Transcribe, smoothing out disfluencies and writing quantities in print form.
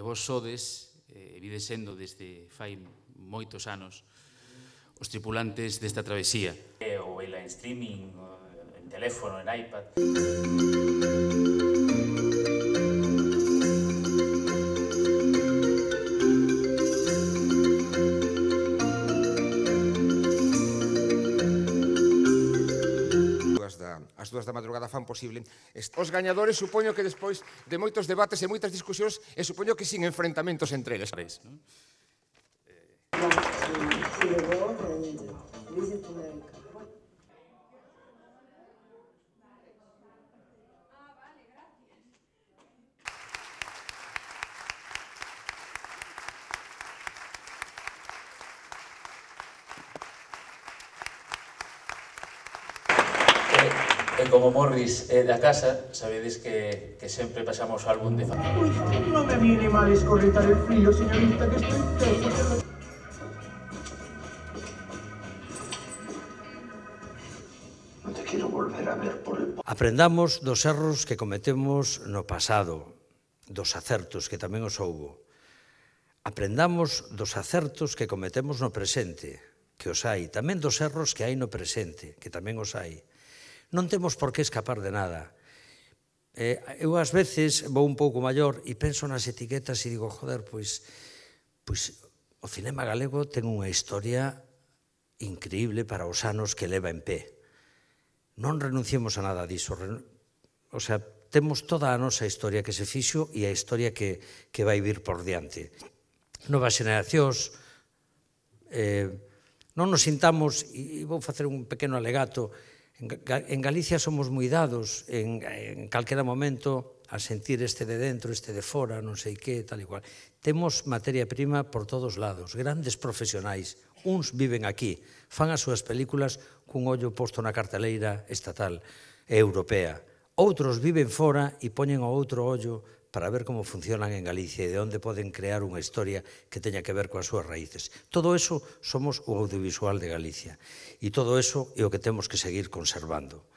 vos sodes, vides sendo desde fai moitos anos, os tripulantes desta travesía. Ou vela en streaming, en teléfono, en iPad. As 2 da madrugada fan posible. Os gañadores supoño que despois de moitos debates e moitas discusións e supoño que sin enfrentamentos entre eles. E como Morris é da casa, sabedes que sempre pasamos o álbum de familia. Uy, no me viene mal escorritar el frío, señorita, que estoy tenso. No te quiero volver a ver por el... Aprendamos dos erros que cometemos no pasado, dos acertos que tamén os houbo. Aprendamos dos acertos que cometemos no presente, que os hai, tamén dos erros que hai no presente, que tamén os hai. Non temos por que escapar de nada. Eu ás veces vou un pouco maior e penso nas etiquetas e digo, joder, pois o cinema galego ten unha historia increíble para os anos que leva en pé. Non renunciemos a nada diso. O sea, temos toda a nosa historia que se fixo e a historia que vai vir por diante. Novas xeneracións, non nos sintamos, e vou facer un pequeno alegato, en Galicia somos moi dados en calquera momento a sentir este de dentro, este de fora, non sei que, tal e cual. Temos materia prima por todos lados, grandes profesionais. Uns viven aquí, fan as súas películas cun ollo posto na carteleira estatal e europea. Outros viven fora e poñen o outro ollo para ver como funcionan en Galicia e de onde poden crear unha historia que teña que ver coas súas raíces. Todo eso somos o audiovisual de Galicia e todo eso é o que temos que seguir conservando.